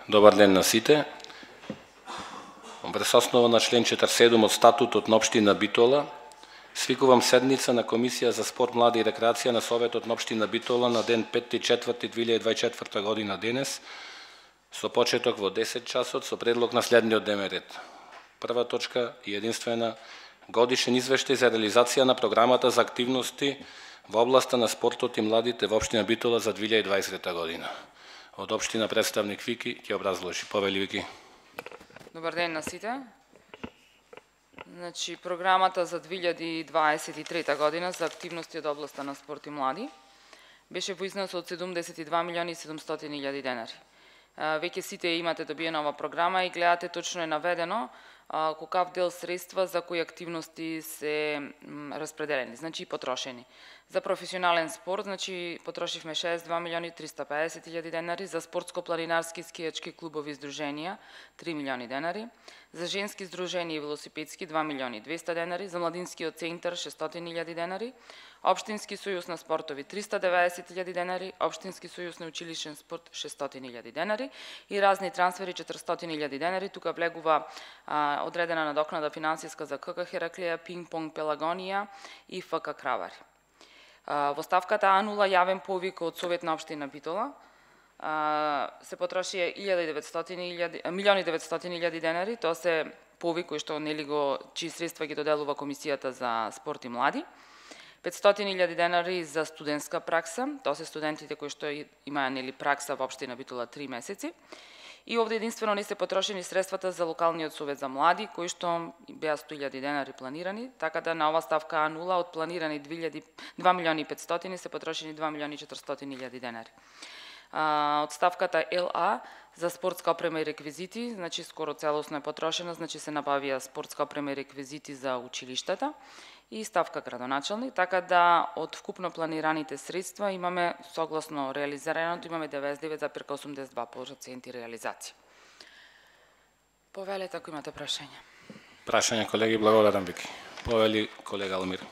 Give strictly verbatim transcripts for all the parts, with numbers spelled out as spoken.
Добар ден на сите. Врз основа на член четиридесет и седум од статутот на општина Битола, свикувам седница на Комисија за спорт, млади и рекреација на Советот на општина Битола на ден пети четврти две илјади дваесет и четврта година денес, со почеток во десет часот со предлог на следниот дневен ред. Прва точка и единствена годишен извештај за реализација на програмата за активности во областа на спортот и младите во општина Битола за две илјади дваесета година. Од општина представник Вики ќе образложи. Повели Вики. Добар ден на сите. Значи, програмата за две илјади дваесет и трета година за активности од областа на спорт и млади беше во износ од седумдесет и два милиони и седумстотини илјади денари. Веќе сите имате добиена ова програма и гледате точно е наведено колкав дел средства за кои активности се распределени, значи и потрошени. За професионален спорт, значи потрошивме шеесет и два милиони триста и педесет илјади денари, за спортско-планинарски скијачки клубови и здруженија три милиони денари, за женски здруженија и велосипедски два милиони и двесте денари, за младинскиот центар шестстотини илјади денари, Општински сојуз на спортови триста и деветдесет илјади денари, Општински сојуз на училишен спорт шестстотини илјади денари и разни трансфери четиристотини илјади денари. Тука влегува а, одредена надокнада финансиска за КК Хераклија, Пинг-понг Пелагонија и ФК Кравари. А, во ставката А нула јавен повик од Совет на општина Битола а, се потроши милиони и деветстотини илјади денари, тоа се повик кој што нели го чии средства ги доделува Комисијата за спорт и млади. петстотини илјади денари за студентска пракса, тоа се студентите кои што имаат нели пракса во општина Битола три месеци. И овде единствено не се потрошени средствата за локалниот совет за млади, кои што беа сто илјади денари планирани, така да на ова ставка А нула од планирани два милиони и петстотини се потрошени два милиони и четиристотини илјади денари. А, од ставката Л А за спортска опрема и реквизити, значи скоро целосно е потрошена, значи се набавија спортска опрема и реквизити за училиштата и ставка градоначалник, така да од вкупно планираните средства имаме, согласно реализираното, имаме деветдесет и девет зарез осумдесет и два проценти реализација. Повелете ако имате прашања. Прашање, колеги, благодарам Вики. Повели колега Алмир.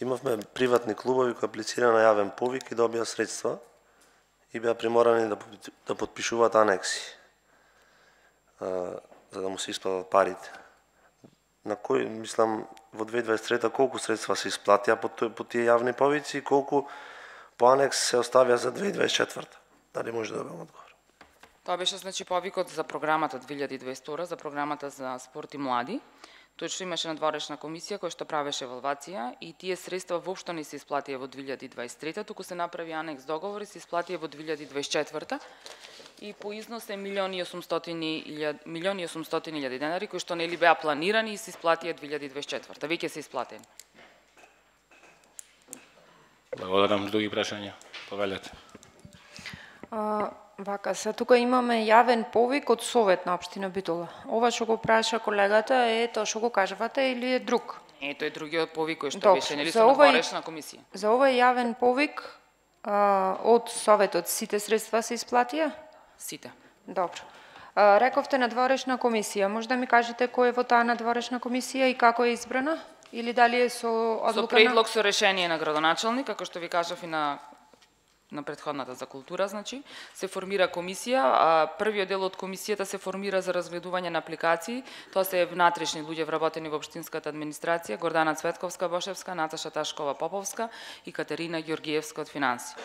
Имавме приватни клубови кои аплицира на јавен повик и добија средства и беа приморани да, да подпишуваат анекси а, за да му се исплатат парите. На кој, мислам, во две илјади дваесет и трета колку средства се исплатија по, по тие јавни повици и колку по анекс се оставија за две илјади дваесет и четврта? Дали може да добиам одговор? Тоа беше значи повикот за програмата две илјади дваесет и втора, за програмата за спорт и млади. Точно имаше надворешна комисија која што правеше евалвација и тие средства воопшто не се исплатија во две илјади дваесет и трета, туку се направи анекс договор и се исплатија во две илјади дваесет и четврта и по износ е милиони и осумстотини илјади денари кои што нели беа планирани и се исплатија две илјади дваесет и четврта. Веќе се исплатени. Благодарам. Други прашања? Повелете. А, вака, се тука имаме јавен повик од Совет на општина Битола. Ова што го праша колегата е тоа што го кажавате или е друг? Е, тој е другиот повик кој што Добре, беше нели за со овој- надворешна комисија. За овој јавен повик а, од Советот сите средства се исплатија? Сите. Добро. А, рековте надворешна комисија. Може да ми кажете кој е во таа надворешна комисија и како е избрана? Или дали е со Со одлука предлог со решение на градоначалник, како што ви кажав и на на претходната за култура, значи, се формира комисија, а првиот дел од комисијата се формира за разгледување на апликации. Тоа се внатрешни луѓе вработени во општинската администрација, Гордана Цветковска-Бошевска, Наташа Ташкова-Поповска и Катерина Ѓоргиевска од финанси.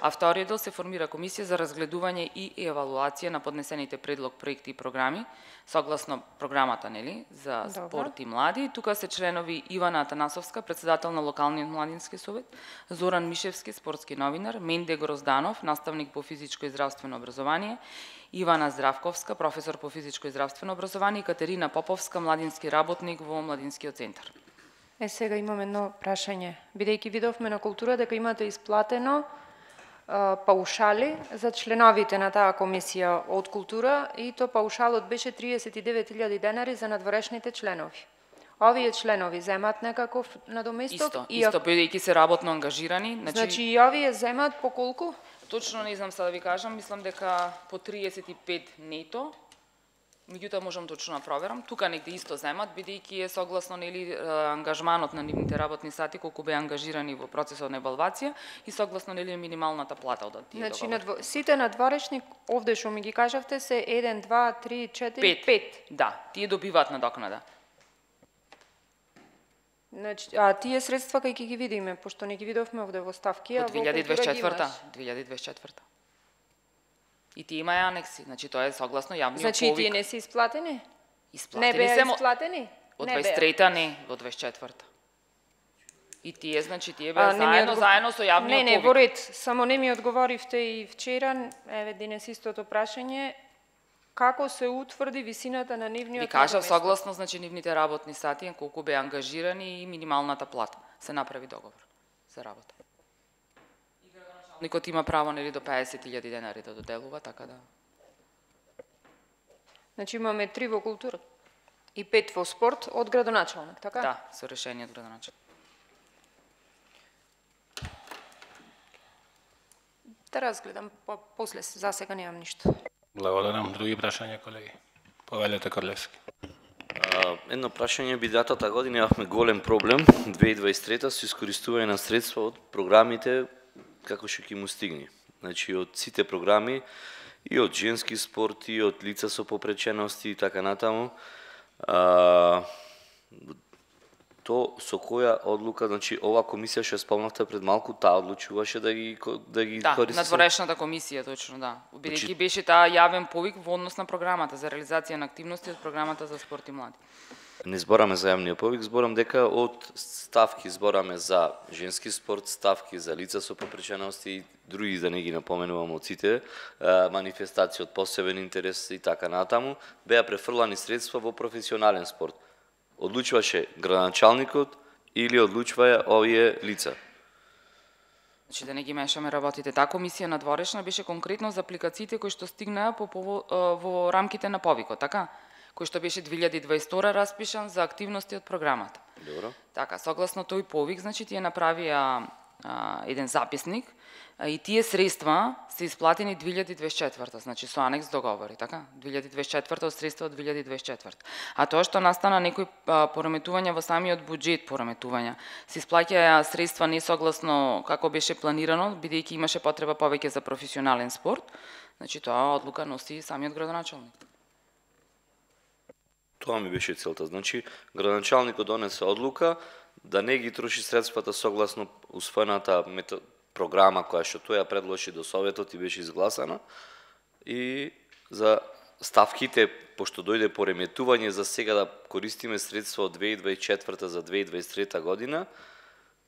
А вториот дел се формира комисија за разгледување и евалуација на поднесените предлог проекти и програми, согласно програмата, нели, за Добро. спорт и млади. Тука се членови Ивана Атанасовска, председател на локалниот младински совет, Зоран Мишевски, спортски новинар, Менде Грозданов, наставник по физичко и здравствено образование, Ивана Здравковска, професор по физичко и здравствено образование и Катерина Поповска, младински работник во младинскиот центар. Е, сега имам едно прашање. Бидејќи видовме на култура дека имате исплатено а, паушали за членовите на таа комисија од култура и то паушалот беше триесет и девет илјади денари за надворешните членови. Овие членови земат некаков надоместок? Исто, и исто, ако- бидејќи се работно ангажирани. Значи, Значи и овие земат по колку? точно не знам сега да ви кажам, мислам дека по триесет и пет нето, меѓутоа можам точно да проверам. Тука негде исто земат, бидејќи е согласно нели ангажманот на нивните работни сати колку беа ангажирани во процесот на евалвација и согласно нели минималната плата од тие Значи, договори. надво... сите надворешни, овде што ми ги кажавте, се еден, два, три, четири, Пет. пет. Да, тие добиваат надокнада. Значи, а тие средства кај ќе ги видиме, пошто не ги видовме овде во ставки, а Од во две илјади и дваесет и четврта. култура ги имаш. две илјади и дваесет и четврта. И тие имаја анекси, значи тоа е согласно јавниот Значи, повик. тие не се исплатени? Исплатени Не беа се мо- исплатени? Од Не дваесет и беа. трета не, во дваесет и четврта. И тие, значи, тие беа А, не ми заедно, одгов- заедно со јавниот Не, не, повик. во ред, само не ми одговоривте и вчера, еве денес истото прашање, како се утврди висината на нивниот Ви кажав наdomесток? согласно, значи, нивните работни сати, колку беа ангажирани и минималната плата. Се направи договор за работа. И градоначалникот има право нели до педесет илјади денари да доделува, така да. Значи имаме три во култура и пет во спорт од градоначалник, така? Да, со решение од градоначалник. Да разгледам, по после, за сега немам ништо. Благодарам. Други прашања, колеги? Повелете Корлевски. А, едно прашање, бидатата година имавме голем проблем, две илјади и дваесет и трета, со искористување на средства од програмите како што ќе му стигне. Значи, од сите програми, и од женски спорт, и од лица со попречености и така натаму. А, то со која одлука, значи, ова комисија што спомнавте пред малку, таа одлучуваше да ги, да ги Да, користи? надворешната комисија, точно, да. Бидејќи Значи- беше таа јавен повик во однос на програмата за реализација на активности од програмата за спорт и млади. Не збораме за јавниот повик, зборам дека од ставки збораме за женски спорт, ставки за лица со попречености и други, да не ги напоменувам од сите, манифестации од посебен интерес и така натаму, беа префрлани средства во професионален спорт. Одлучуваше градоначалникот или одлучваја овие лица? Значи да не ги мешаме работите. Таа комисија надворешна беше конкретно за апликациите кои што стигнаа по, по, во рамките на повикот, така? Кој што беше две илјади и дваесет и втора распишан за активности од програмата. Добро. Така, согласно тој повик, значи тие направија а, еден записник а, и тие средства се исплатени две илјади и дваесет и четврта, значи со анекс договори, така? две илјади и дваесет и четврта од средства од две илјади и дваесет и четврта. А тоа што настана некои а, пораметувања во самиот буџет, пораметувања, се исплаќаја средства несогласно како беше планирано, бидејќи имаше потреба повеќе за професионален спорт, значи тоа одлука носи самиот градоначалник. Тоа ми беше целта. Значи, градоначалникот донесе одлука да не ги троши средствата согласно усвоената мето... програма која што тој ја предложи до Советот и беше изгласана, и за ставките, пошто дојде пореметување за сега да користиме средства од две илјади и дваесет и четврта за две илјади и дваесет и трета година,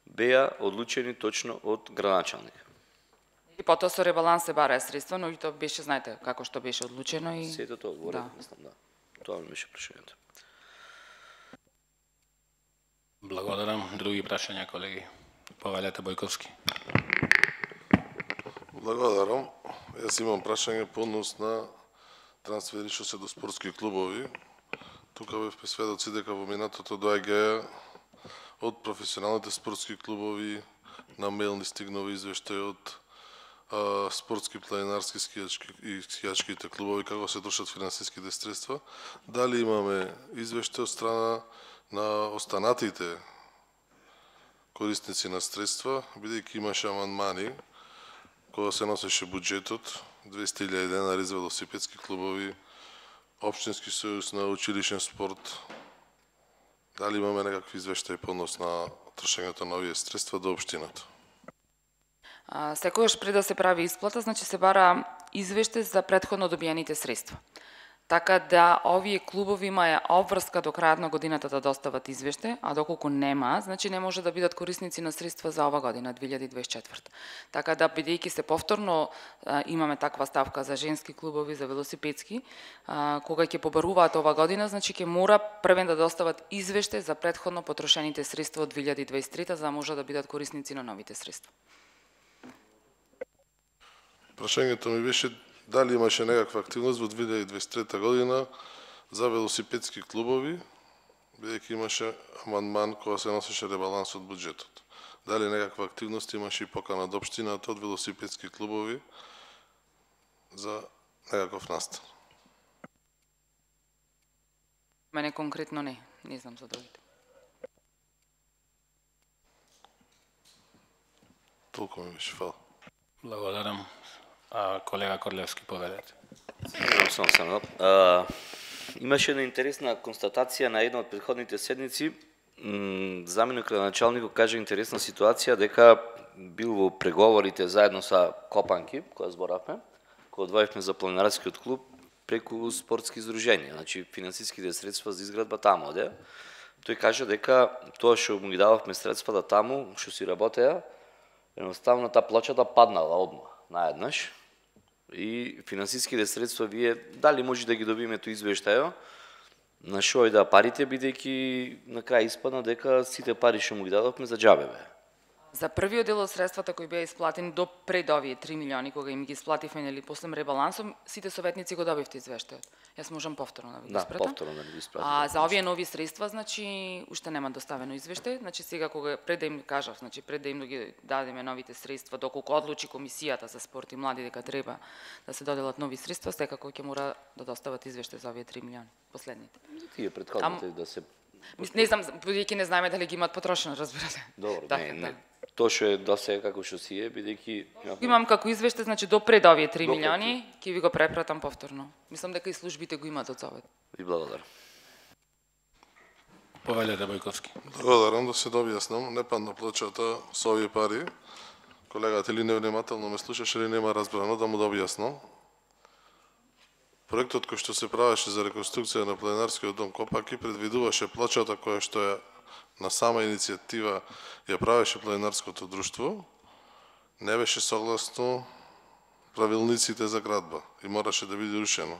беа одлучени точно од градоначалник. И потоа со ребаланс се бараа средства, но и тоа беше, знаете, како што беше одлучено и Сето тоа одговорив, Да. мислам, да. Тоа ми беше прашањето. Благодарам. Други прашања, колеги? Повелете Бојковски. Благодарам. Јас имам прашање по однос на трансфери што се до спортски клубови. Тука бевме сведоци дека во минатото доаѓаја од професионалните спортски клубови на мејл ни стигнува извештај од а, спортски планинарски скијачки и скијачките клубови како се трошат финансиските средства. Дали имаме извештај од страна на останатите корисници на средства, бидејќи имаше амандмани кога се носеше буџетот, двесте илјади денари за велосипедски клубови, Општински сојуз на училишен спорт. Дали имаме некакви извештаи по однос на трошењето на овие средства до општината? А, секогаш пред да се прави исплата, значи се бара извештај за претходно добиените средства. Така да овие клубови имаја обврска до крајот на годината да достават извештај, а доколку нема, значи не може да бидат корисници на средства за ова година, две илјади и дваесет и четврта. Така да, бидејќи се повторно а, имаме таква ставка за женски клубови, за велосипедски, а, кога ќе побаруваат ова година, значи ќе мора првен да достават извештај за претходно потрошените средства од две илјади и дваесет и трета, за да може да бидат корисници на новите средства. Прашањето ми беше дали имаше некаква активност во две илјади и дваесет и трета година за велосипедски клубови, бидејќи имаше амандман кога се носеше ребаланс од буџетот. Дали некаква активност имаше и покана од општината од велосипедски клубови за некаков настан? Мене конкретно не, не знам за другите. Толку ми беше, фала. Благодарам. А, колега Корлевски, поведете. Само само. А, имаше една интересна констатација на една од претходните седници. Заменик градоначалникот кажа интересна ситуација дека бил во преговорите заедно со Копанки, која зборавме, која одвоивме за планинарскиот клуб преку спортски издруженија, значи финансиските средства за изградба таму оде. Тој кажа дека тоа што му ги дававме средствата таму, што си работеа, едноставно таа плачата паднала одма, наеднаш. И финансиските средства вие дали може да ги добиме тој извештајо, на шо да парите, бидејќи на крај испадна дека сите пари што му ги дадовме за џабе бе. За првиот дел од средствата кои беа исплатени до пред овие три милиони кога им ги исплативме нели после ребалансом, сите советници го добивте извештајот. Јас можам повторно да ви го Да, испратам. повторно да го испратам. А за овие нови средства, значи уште нема доставено извештај, значи сега кога пред да им кажав, значи пред да им да ги дадеме новите средства, доколку одлучи комисијата за спорт и млади дека треба да се доделат нови средства, секако ќе мора да достават извештај за овие три милиони последните. За тие претходните да се Мис- Не знам, бидејќи не знаеме дали ги имаат потрошено, разбирате. Добро, Да, не, не. да. Тоа што е до сега како што си е, бидејќи Имам како извештај, значи до пред овие три До пред милиони, ќе ви го препратам повторно. Мислам дека и службите го имаат од Совет. ви благодарам. Повелете, Бојковски. Благодарам, да се дообјаснам. Не падна плачата со овие пари. Колегата или невнимателно ме слушаше или нема разбрано, да му дообјаснам. Проектот кој што се правеше за реконструкција на пленарскиот дом Копаки предвидуваше плачата која што е на сама иницијатива ја правеше пленарското друштво, не беше согласно правилниците за градба и мораше да биде рушено.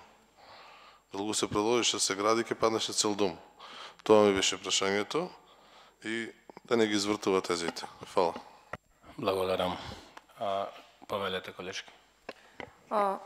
Доколку се предложише да се гради, ќе паднеше цел дом. Тоа ми беше прашањето и да не ги извртува тезите. Фала. Благодарам. А, повелете, колешки. А,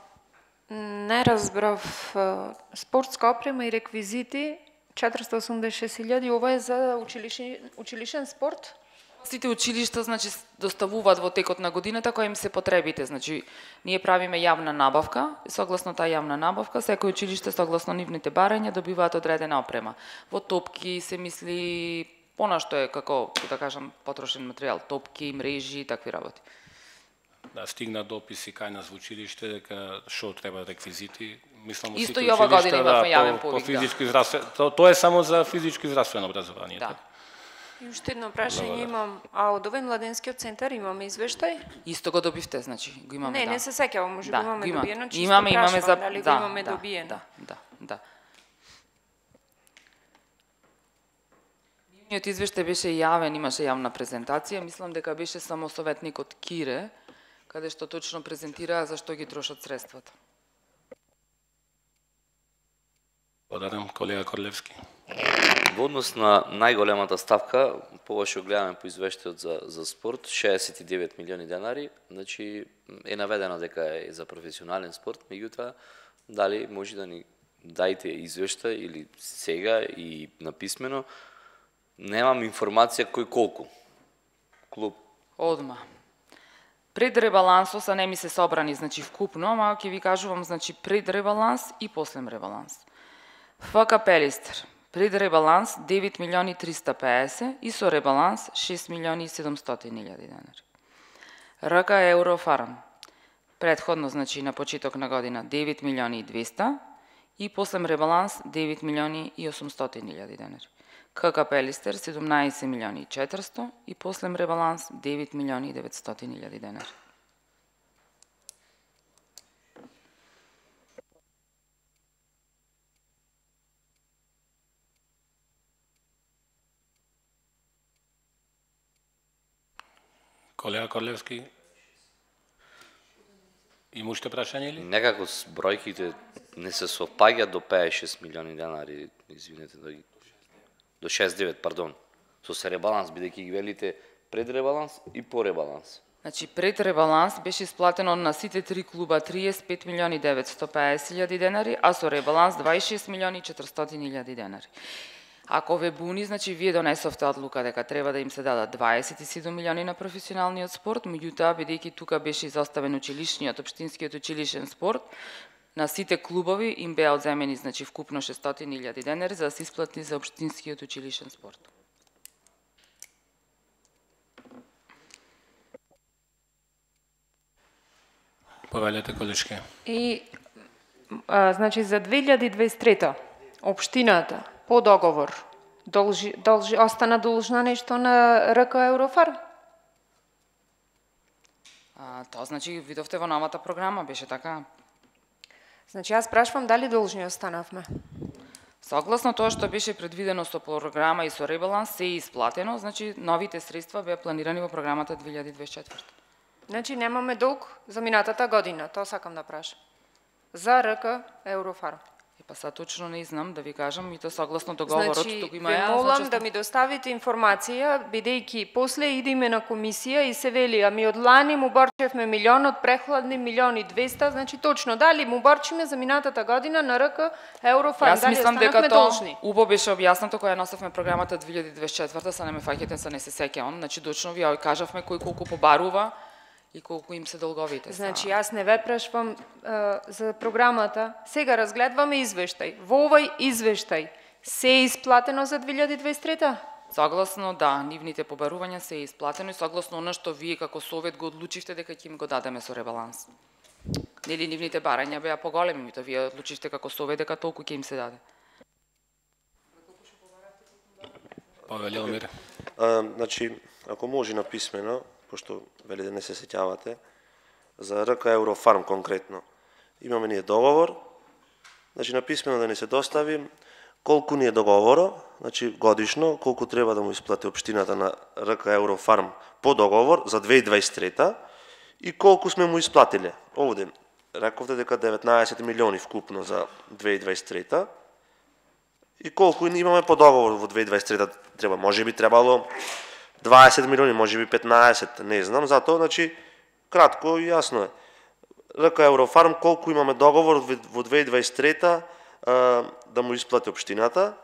не разбрав, а, спортска опрема и реквизити четиристотини и осумдесет и шест илјади, ова е за училишен, училишен спорт? Сите училишта значи доставуваат во текот на годината кои им се потребите, значи ние правиме јавна набавка и согласно таа јавна набавка секој училиште согласно нивните барања добиваат одредена опрема. Во топки се мисли понашто е како да кажам потрошен материјал, топки, мрежи и такви работи. Да, стигна дописи кај нас во училиште дека што треба реквизити. Мислам, во Исто сите и ова училишта, година имавме јавен по, повик, по да. физичко и здравствено. То, тоа е само за физичко и здравствено образование. Да. така? И уште едно прашање имам, а од овој младенскиот центар имаме извештај? Исто го добивте, значи го имаме. Не, да. не се сеќавам, може би Да, имаме го има. добиено, чисто Имаме, имаме за прашувам дали го да, имаме да, добиено. Да, да, да. Нивниот извештај беше јавен, имаше јавна презентација, мислам дека беше само советникот Кире, каде што точно презентираа за што ги трошат средствата. Благодарам, колега Корлевски. Во однос на најголемата ставка, пога што гледаме по извештајот за, за спорт, шеесет и девет милиони денари, значи е наведено дека е за професионален спорт, меѓутоа дали може да ни дајте извештај или сега и написмено, немам информација кој колку. Клуб. Одма. Пред ребалансот са не ми се собрани, значи вкупно, ама ќе ви кажувам, значи пред ребаланс и после ребаланс. ФК Пелистер, пред ребаланс девет милиони триста пеесет и со ребаланс шест милиони и седумстотини илјади денари. РК Еврофарм, предходно, значи на почеток на година девет милиони и двеста и после ребаланс девет милиони и осумстотини илјади денари. КК Пелистер седумнаесет милиони и четиристо и после ребаланс девет милиони и деветстотини илјади денари. Колега Корлевски, има уште прашање или? Некако с бројките не се совпаѓаат до петдесет и шест милиони денари, извинете, да ги... до шест девет, пардон, со се ребаланс, бидејќи ги велите пред ребаланс и по ребаланс. Значи, пред ребаланс беше исплатено на сите три клуба триесет и пет милиони деветсто пеесет илјади денари, а со ребаланс дваесет и шест милиони и четиристотини илјади денари. Ако ве буни, значи вие донесовте одлука дека треба да им се дадат дваесет и седум милиони на професионалниот спорт, меѓутоа бидејќи тука беше изоставен училишниот, општинскиот училишен спорт, на сите клубови им беа одземени, значи вкупно шестстотини илјади денари за да се исплати за општинскиот училишен спорт. Повелете, колешки. И а, значи за две илјади и дваесет и трета општината по договор должи, должи остана должна нешто на РК Еврофарм? А, тоа значи видовте во новата програма, беше така? Значи јас прашувам дали должни останавме. Согласно тоа што беше предвидено со програма и со ребаланс се е исплатено, значи новите средства беа планирани во програмата две илјади и дваесет и четврта. Значи немаме долг за минатата година, тоа сакам да прашам. За РК Еврофарм. И па са точно не знам да ви кажам, и тоа согласно договорот, Значи, тук има ве ја, молам значи, да ми доставите информација, бидејќи после идеме на комисија и се вели, ами од лани му борчевме милион, од прехладни милион и двеста, значи точно, дали му борчиме за минатата година на РК Еврофарм, Јас дали мислам дека останавме тоа должни? убо беше објаснато кога ја носевме програмата две илјади и дваесет и четврта, са не ме фаќате, са не се сеќавам, значи точно ви ја кажавме кој колку побарува и колку им се долговите. Значи, јас не ве прашувам а, за програмата. Сега разгледваме извештај. Во овој извештај се е исплатено за две илјади и дваесет и трета? Согласно, да, нивните побарувања се е исплатено и согласно оно што вие како совет го одлучивте дека ќе им го дадеме со ребаланс. Нели нивните барања беа поголеми, мито вие одлучивте како совет дека толку ќе им се даде. Повеле Омир. А, значи, ако може на писмено, пошто вели да не се сеќавате, за РК Еврофарм конкретно. Имаме ние договор, значи на писмено да ни се достави колку ни е договоро, значи годишно, колку треба да му исплати општината на РК Еврофарм по договор за две илјади и дваесет и трета и колку сме му исплатиле. Овде рековте дека деветнаесет милиони вкупно за две илјади и дваесет и трета и колку имаме по договор во две илјади и дваесет и трета треба, може би требало дваесет милиони, може би петнаесет, не знам, затоа, значи, кратко и јасно е. РК Еврофарм, колку имаме договор во две илјади и дваесет и трета да му исплати општината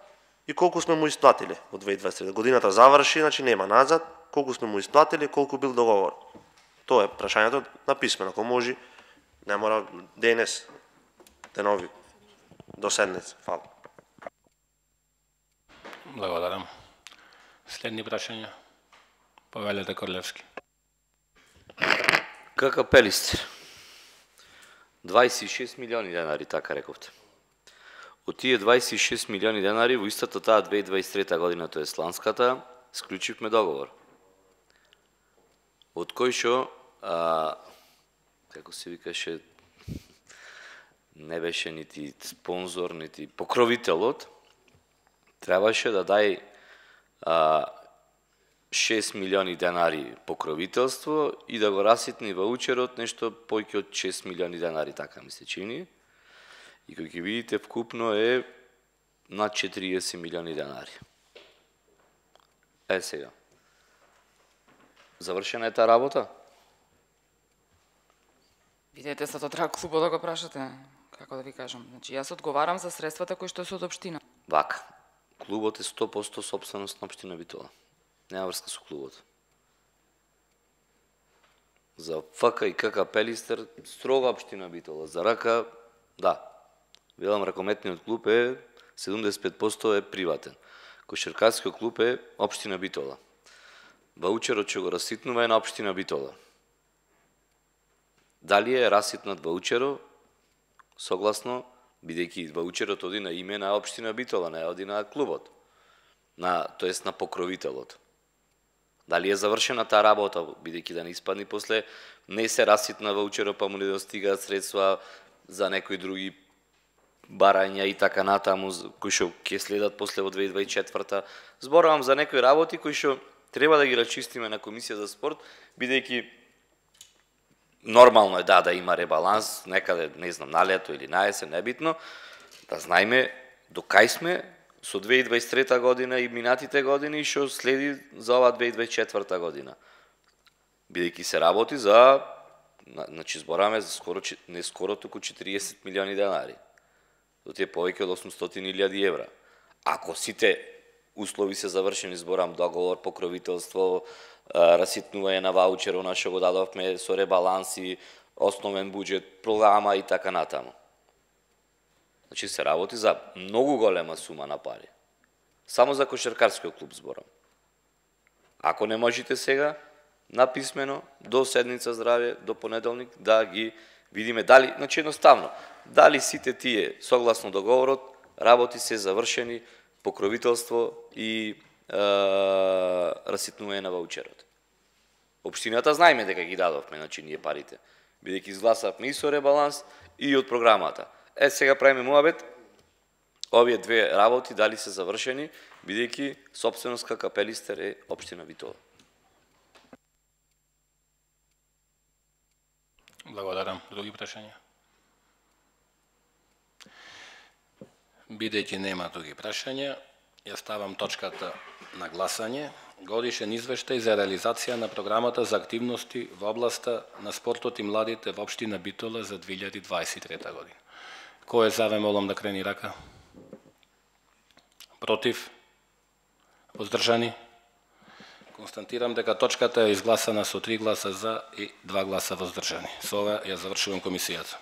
и колку сме му исплатили во две илјади и дваесет и трета. Годината заврши, значи нема назад, колку сме му исплатили, колку бил договор. Тоа е прашањето на писмено, ако може, не мора денес, денови, до седница. Фала. Благодарам. Следни прашања. Повелете Корлевски. КК Пелистер. дваесет и шест милиони денари, така рековте. Од тие дваесет и шест милиони денари во истата таа две илјади и дваесет и трета година, тоа е сланската, склучивме договор. Од кој шо, а, како се викаше, не беше нити спонзор, нити покровителот, требаше да дај а, шест милиони денари покровителство и да го раситни ваучерот нешто појќе од шест милиони денари, така ми се чини. И кој ќе видите вкупно е над четириесет милиони денари. Е сега. Завршена е таа работа? Видете, са тоа треба клубот да го прашате, како да ви кажам. Значи, јас одговарам за средствата кои што се од општина. Вака. Клубот е сто проценти сопственост на општина Битола. Нема врска со клубот. За ФК и КК Пелистер строга општина Битола. За РК, да. Велам, ракометниот клуб е седумдесет и пет проценти е приватен. Кошаркарскиот клуб е општина Битола. Ваучерот ќе го раситнува е на општина Битола. Дали е раситнат ваучеро, согласно, бидејќи ваучерот оди на име на општина Битола, не оди на клубот, на, тоест на покровителот. Дали е завршена таа работа, бидејќи да не испадни после, не се раситна ваучеро, па му не достигаат средства за некои други барања и така натаму, кои што ќе следат после во две илјади и дваесет и четврта. Зборувам за некои работи кои што треба да ги рачистиме на Комисија за спорт, бидејќи нормално е да да има ребаланс, некаде, не знам, на лето или на есен, небитно, да знаеме до кај сме со две илјади и дваесет и трета година и минатите години и што следи за ова две илјади и дваесет и четврта година. Бидејќи се работи за, значи збораме за скоро, не скоро, туку четириесет милиони денари. До тие повеќе од осумстотини илјади евра. Ако сите услови се завршени, зборам договор, покровителство, раситнување на ваучерот што го дадовме со ребаланси, основен буџет, програма и така натаму. Значи се работи за многу голема сума на пари. Само за кошаркарскиот клуб зборам. Ако не можете сега, написмено, до седница здравје, до понеделник, да ги видиме дали, значи едноставно, дали сите тие, согласно договорот, работи се завршени, покровителство и е, раситнување на ваучерот. Општината знаеме дека ги дадовме, значи ние парите, бидејќи изгласавме и со ребаланс и од програмата. Е, сега правиме муабет, овие две работи дали се завршени, бидејќи собственост Капелистер е општина Битола. Благодарам. Други прашања? Бидејќи нема други прашања, ја ставам точката на гласање. Годишен извештај за реализација на програмата за активности во областа на спортот и младите во општина Битола за две илјади дваесет и трета година. Кој е за, ве молам да крени рака? Против? Воздржани? Констатирам дека точката е изгласана со три гласа за и два гласа воздржани. Со ова ја завршувам комисијата.